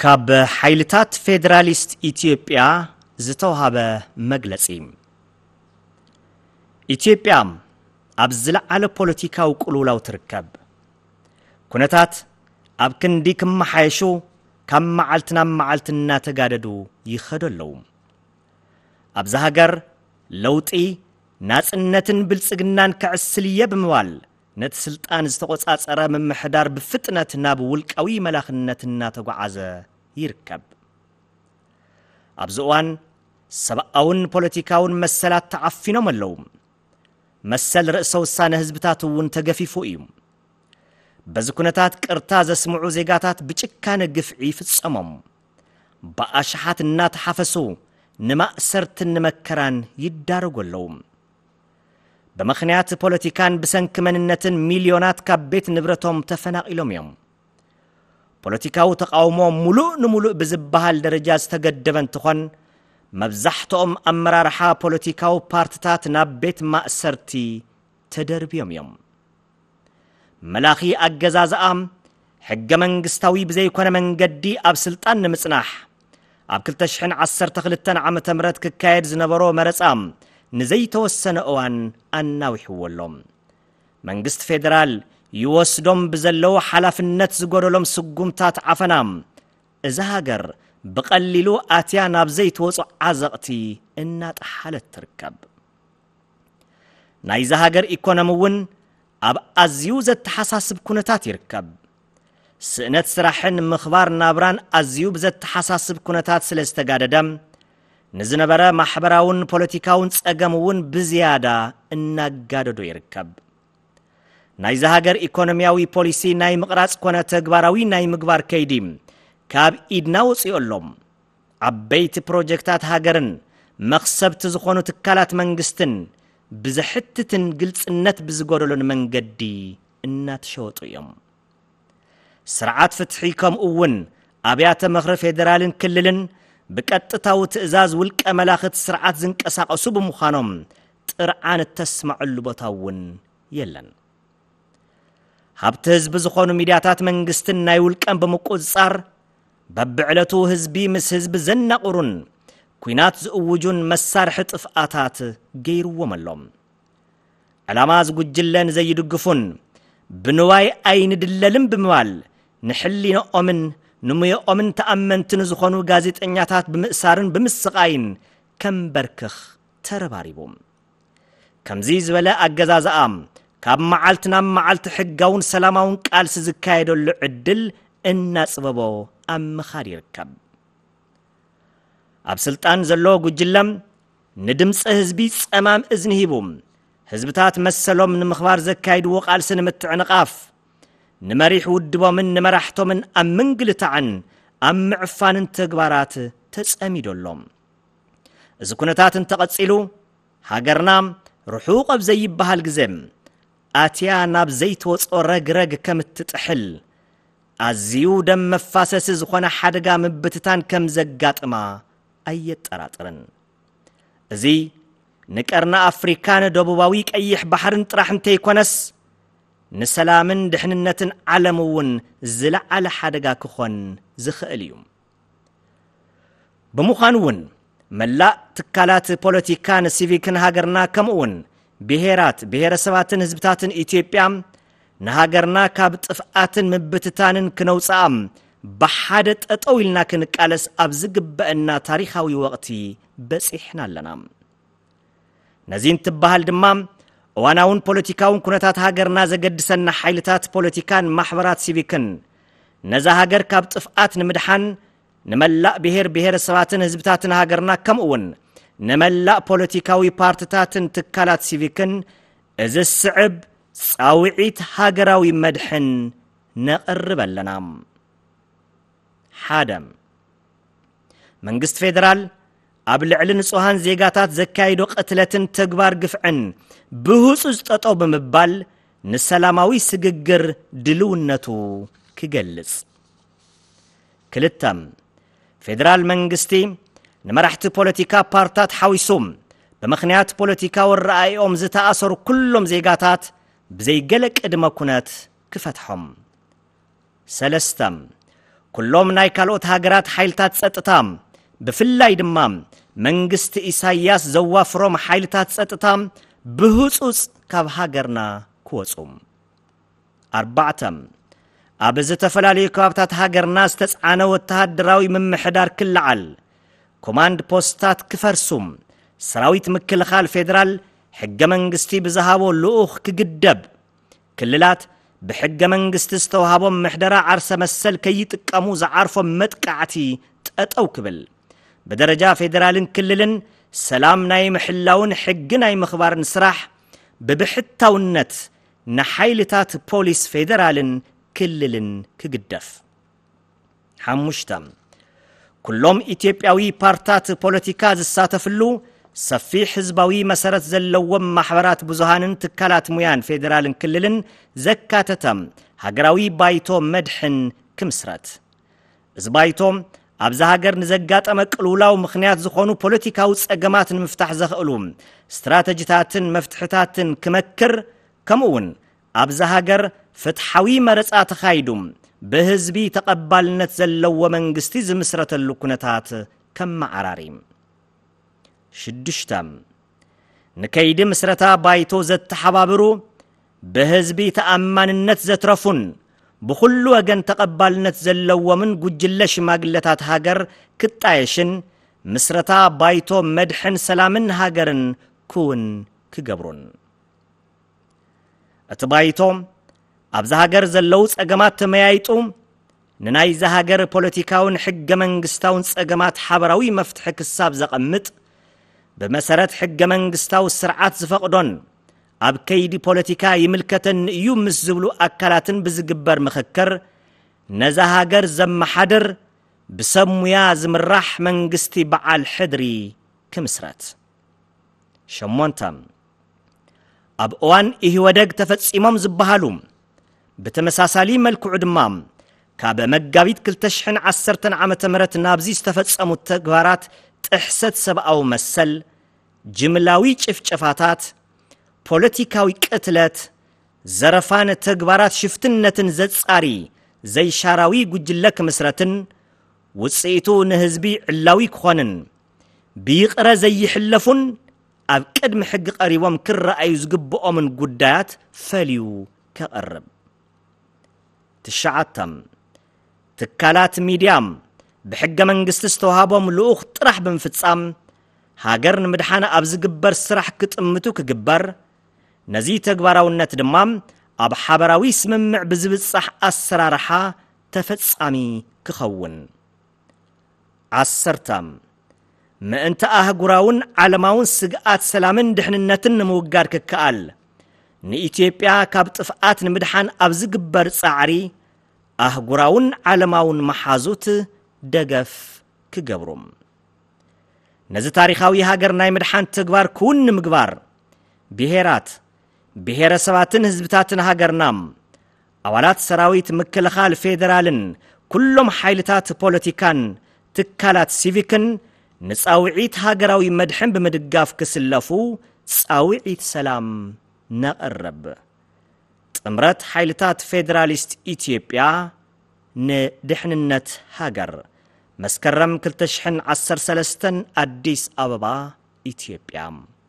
ካብ ሓይልታት ፌደራሊስት ኢትዮጵያ ዝተውሃበ መግለጺ። ኢትዮጵያ ኣብ ዝለዓለ ፖለቲካዊ ቅልውላው ትርከብ። ኩነታት ኣብ ክንዲ ክመሓየሹ ካብ መዓልቲ ናብ መዓልቲ እናተጋደዱ ይኸዱ ኣለዉ። ኣብዛ ሃገር ለውጢ፣ ናጽነትን ብልጽግናን ክዕስል እየ ብምባል ነቲ ስልጣን ዝተቖጻጸረ ምምሕዳር ብፍጥነት ናብ ውልቃዊ መላኽነት እናተጓዓዘ ይርከብ። ኣብዚ እዋን ሰብኣውን ፖለቲካውን መሰላት ተዓፊኖም ኣለዉ። መሰል ርእሰ ውሳነ ህዝብታት እውን ተገፊፉ እዩ። በዚ ኩነታት ቅርታ ዘስምዑ ዜጋታት ብጭካነ ግፍዒ ይፍጸሞም። ብኣሽሓት እናተሓፈሱ ንማእሰርትን ንመከራን ይዳረጉ ኣለዉ። ብምኽንያት ፖለቲካን ብሰንኪ መንነትን ሚልዮናት ካብ ቤት ንብረቶም ተፈናቒሎም እዮም። ፖለቲካዊ ተቓውሞ ሙሉእ ንሙሉእ ብዝበሃል ደረጃ ዝተገደበ እንትኾን፣ መብዛሕትኦም ኣመራርሓ ፖለቲካዊ ፓርትታት ናብ ቤት ማእሰርቲ ተደርብዮም እዮም። መላኺ ኣገዛዝኣ ሕገ መንግስታዊ ብዘይኮነ መንገዲ ኣብ ስልጣን ንምጽናሕ፣ ኣብ ክልተ ሽሕን ዓሰርተ ክልተን ዓመተ ምህረት ክካየድ ዝነበሮ መረጻ ንዘይተወሰነ እዋን ኣናዊሕዎ ኣሎ። መንግስቲ ፌደራል ይወስዶም ብዘለዉ ሓላፍነት ዝጎደሎም ስጉምታት ዓፈና፣ እዛ ሃገር ብቐሊሉ ኣትያ ናብ ዘይትወጹ ዓዘቕቲ እናጠሓለት ትርከብ። ናይዛ ሃገር ኢኮኖሚ እውን ኣብ ኣዝዩ ዘተሓሳስብ ኩነታት ይርከብ። ስእነት ስራሕን ምኽባር ናብራን ኣዝዩ ብዘተሓሳስብ ኩነታት ስለ ዝተጋደደ፣ ንዝነበረ ማሕበራውን ፖለቲካውን ጸገም እውን ብዝያዳ እናጋደዶ ይርከብ። ናይዛ ሃገር ኢኮኖሚያዊ ፖሊሲ ናይ ምቕራጽ ኮነ ተግባራዊ ናይ ምግባር ከይዲ ካብ ኢድና ወጺኡ ኣሎ። ዓበይቲ ፕሮጀክታት ሃገርን መኽሰብቲ ዝኾኑ ትካላት መንግስትን ብዘሕትትን ግልጽነት ብዝጎደሎን መንገዲ እናተሸወጡ እዮም። ስርዓት ፍትሒ ከምኡ እውን ኣብያተ ምኽሪ ፌደራልን ክልልን ብቀጥታዊ ትእዛዝ ውልቀ መላኽቲ ስርዓት ዝንቀሳቐሱ ብምዃኖም ጥርዓን እተስምዐሉ ቦታ እውን የለን። ሃብቲ ህዝቢ ዝኾኑ ሚድያታት መንግስትን ናይ ውልቀን ብምቁጽጻር በብዕለቱ ህዝቢ ምስ ህዝቢ ዘናቑሩን ኲናት ዝእውጁን መሳርሒ ጥፍኣታት ገይርዎም ኣሎ። ዕላማ እዚ ጉጅለ ንዘይድግፉን ብንዋይ ኣይንድለልን ብምባል ንሕሊንኦምን ንሙየኦምን ተኣመንቲ ንዝኾኑ ጋዜጠኛታት ብምእሳርን ብምስቓይን ከንበርክኽ ተረባሪቡ። ከምዚ ዝበለ ኣገዛዝኣ ካብ መዓልቲ ናብ መዓልቲ ሕጋውን ሰላማውን ቃልሲ ዝካየደሉ ዕድል እናጽበቦ ኣብ ምኻድ ይርከብ። ኣብ ስልጣን ዘሎ ጉጅለ ንድምፂ ህዝቢ ጸማም እዝኒ ሂቡ ህዝብታት መሰሎም ንምኽባር ዘካይድዎ ቃልሲ ንምትዕንቓፍ ንመሪሕ ውድቦምን ንመራሕቶምን ኣብ ምንግልታዕን ኣብ ምዕፋንን ተግባራት ተጸሚዱ ኣሎ። እዚ ኩነታት እንተቐጺሉ፣ ሃገርና ርሑቕ ኣብ ዘይበሃል ግዜ ኣትያ ናብ ዘይትወጾ ረግረግ ከም እትጥሕል፣ ኣዝዩ ደም መፋሰሲ ዝኾነ ሓደጋ ምብትታን ከም ዘጋጥማ ኣየጠራጥርን። እዚ ንቀርኒ ኣፍሪካን ደቡባዊ ቀይሕ ባሕርን ጥራሕ እንተይኮነስ፣ ንሰላምን ድሕንነትን ዓለም እውን ዝለዓለ ሓደጋ ክኾን ዝኽእል እዩ። ብምዃኑ እውን፣ መላእ ትካላት ፖለቲካን ሲቪክን ሃገርና፣ ከምኡ እውን ብሄራት፣ ብሄረሰባትን ህዝብታትን ኢትዮጵያ፣ ንሃገርና ካብ ጥፍኣትን ምብትታንን ክነውፅኣ ብሓደ ጠጠው ኢልና ክንቃለስ ኣብ ዝግበአና ታሪኻዊ ወቕቲ በፂሕና ኣለና። ነዚ እንትበሃል ድማ፣ እዋናውን ፖለቲካውን ኩነታት ሃገርና ዘገድሰና ሓይልታት ፖለቲካን ማሕበራት ሲቪክን፣ ነዛ ሃገር ካብ ጥፍኣት ንምድሓን፣ ንመላእ ብሄር ብሄረሰባትን ህዝብታትን ሃገርና፣ ከምኡ እውን ንመላእ ፖለቲካዊ ፓርትታትን ትካላት ሲቪክን፣ እዚ ዝስዕብ ጻውዒት ሃገራዊ መድሕን ነቕርብ ኣለና። ሓደ፣ መንግስቲ ፌደራል ኣብ ልዕሊ ንጹሃን ዜጋታት ዘካይዶ ቅትለትን ተግባር ግፍዕን ብህጹጽ ጠጠው ብምባል፣ ንሰላማዊ ስግግር ድልውነቱ ክገልጽ። ክልተ፣ ፌደራል መንግስቲ ንመራሕቲ ፖለቲካ ፓርታት ሓዊሱ፣ ብምኽንያት ፖለቲካዊ ኣረኣእያኦም ዝተኣሰሩ ኩሎም ዜጋታት ብዘይገለ ቅድመ ኩነት ክፈትሖም። ሰለስተ፣ ኩሎም ናይ ካልኦት ሃገራት ሓይልታት ጸጥታ፣ ብፍላይ ድማ መንግስቲ ኢሳያስ ዘዋፍሮም ሓይልታት ጸጥታ ብህጹጽ ካብ ሃገርና ክወጹ። ኣርባዕተ፣ ኣብ ዝተፈላለዩ ከባብታት ሃገርና ዝተጻዕነ ወተሃደራዊ ምምሕዳር ክለዓል፣ ኮማንድ ፖስታት ክፈርሱ፣ ሰራዊት ምክልኻል ፌደራል ሕገ መንግስቲ ብዝሃቦ ልኡኽ ክግደብ፣ ክልላት ብሕገ መንግስቲ ዝተውሃቦም ምሕደራ ዓርሰ መሰል ከይጥቀሙ ዝዓርፎም መጥቃዕቲ ጠጠው ክብል፣ ብደረጃ ፌደራልን ክልልን ሰላም ናይ ምሕላውን ሕጊ ናይ ምኽባርን ስራሕ ብብሕታውነት ንሓይልታት ፖሊስ ፌደራልን ክልልን ክግደፍ። ሓሙሽተ፣ ኩሎም ኢትዮጵያዊ ፓርታት ፖለቲካ ዝሳተፍሉ ሰፊሕ ህዝባዊ መሰረት ዘለዎም ማሕበራት ብዙሃንን ትካላት ሙያን ፌደራልን ክልልን ዘካተተ ሃገራዊ ባይቶ መድሕን ክምስረት። እዚ ባይቶ ኣብዛ ሃገር ንዘጋጠመ ቅልውላው ምኽንያት ዝኾኑ ፖለቲካዊ ጸገማት ንምፍታሕ ዘኽእሉ ስትራተጂታትን መፍትሕታትን ክመክር፣ ከምኡ እውን ኣብዛ ሃገር ፍትሓዊ መረጻ ተኻይዱ ብህዝቢ ተቐባልነት ዘለዎ መንግስቲ ዝምስረተሉ ኩነታት ከመዓራሪ። ሽዱሽተ፣ ንከይዲ ምስረታ ባይቶ ዘተሓባብሩ፣ ብህዝቢ ተኣማንነት ዘትረፉን ብኹሉ ወገን ተቐባልነት ዘለዎምን ጉጅለ ሽማግለታት ሃገር ክጣየሽን ምስረታ ባይቶ መድሕን ሰላምን ሃገርን ክውን ክገብሩን። እቲ ባይቶ ኣብዛ ሃገር ዘለዉ ጸገማት ተመያይጡ ንናይዛ ሃገር ፖለቲካውን ሕገ መንግስታውን ጸገማት ሓበራዊ መፍትሒ ክሳብ ዘቐምጥ፣ ብመሰረት ሕገ መንግስታዊ ስርዓት ዝፈቕዶን ኣብ ከይዲ ፖለቲካ ይምልከተኒ እዩ ምስ ዝብሉ ኣካላትን ብዝግበር ምኽክር፣ ነዛ ሃገር ዘመሓድር ብሰብ ሙያ ዝምራሕ መንግስቲ በዓል ሕድሪ ክምስረት። ሸሞንተ፣ ኣብ እዋን ኢህወደግ ተፈጺሞም ዝበሃሉ፣ ብተመሳሳሊ መልክዑ ድማ ካብ መጋቢት ክልተ ሽሕን ዓሰርተን ዓመተ ምህረት ናብዚ ዝተፈጸሙ ተግባራት ጥሕሰት ሰብኣዊ መሰል፣ ጅምላዊ ጭፍጨፋታት፣ ፖለቲካዊ ቅትለት፣ ዘረፋን ተግባራት ሽፍትነትን ዘጻሪ ዘይሻራዊ ጉጅለ ክምስረትን ውጽኢቱ ንህዝቢ ዕላዊ ክኾንን ብይቕረ ዘይሕለፉን ኣብ ቅድሚ ሕጊ ቀሪቦም ክረኣዩ ዝግብኦምን ጉዳያት ፈልዩ ከቕርብ። ትሽዓተ፣ ትካላት ሚድያ ብሕገ መንግስቲ ዝተዋሃቦም ልኡኽ ጥራሕ ብምፍጻም ሃገር ንምድሓን ኣብ ዝግበር ስራሕ ክጥምቱ ክግበር፣ ነዚ ተግባራውነት ድማ ኣብ ሓበራዊ ስምምዕ ብዝብጻሕ ኣሰራርሓ ተፈጻሚ ክኸውን። ዓሰርተ፣ ምእንቲ ኣህጉራውን ዓለማውን ስግኣት ሰላምን ድሕንነትን ንምውጋድ ክከኣል፣ ንኢትዮጵያ ካብ ጥፍኣት ንምድሓን ኣብ ዝግበር ጻዕሪ ኣህጉራውን ዓለማውን መሓዙት ደገፍ ክገብሩ። ነዚ ታሪኻዊ ሃገር ናይ ምድሓን ተግባር ክውን ንምግባር፣ ብሄራት፣ ብሄረሰባትን ህዝብታትን ሃገርና፣ ኣባላት ሰራዊት ምክልኻል ፌደራልን ኩሎም ሓይልታት ፖለቲካን ትካላት ሲቪክን ንጻውዒት ሃገራዊ መድሕን ብምድጋፍ ክስለፉ ጻውዒት ሰላም ነቕርብ። ጥምረት ሓይልታት ፌደራሊስት ኢትዮጵያ ንድሕንነት ሃገር። መስከረም ክልተ ሽሕን ዓሰርተ ሰለስተን፣ ኣዲስ ኣበባ፣ ኢትዮጵያ።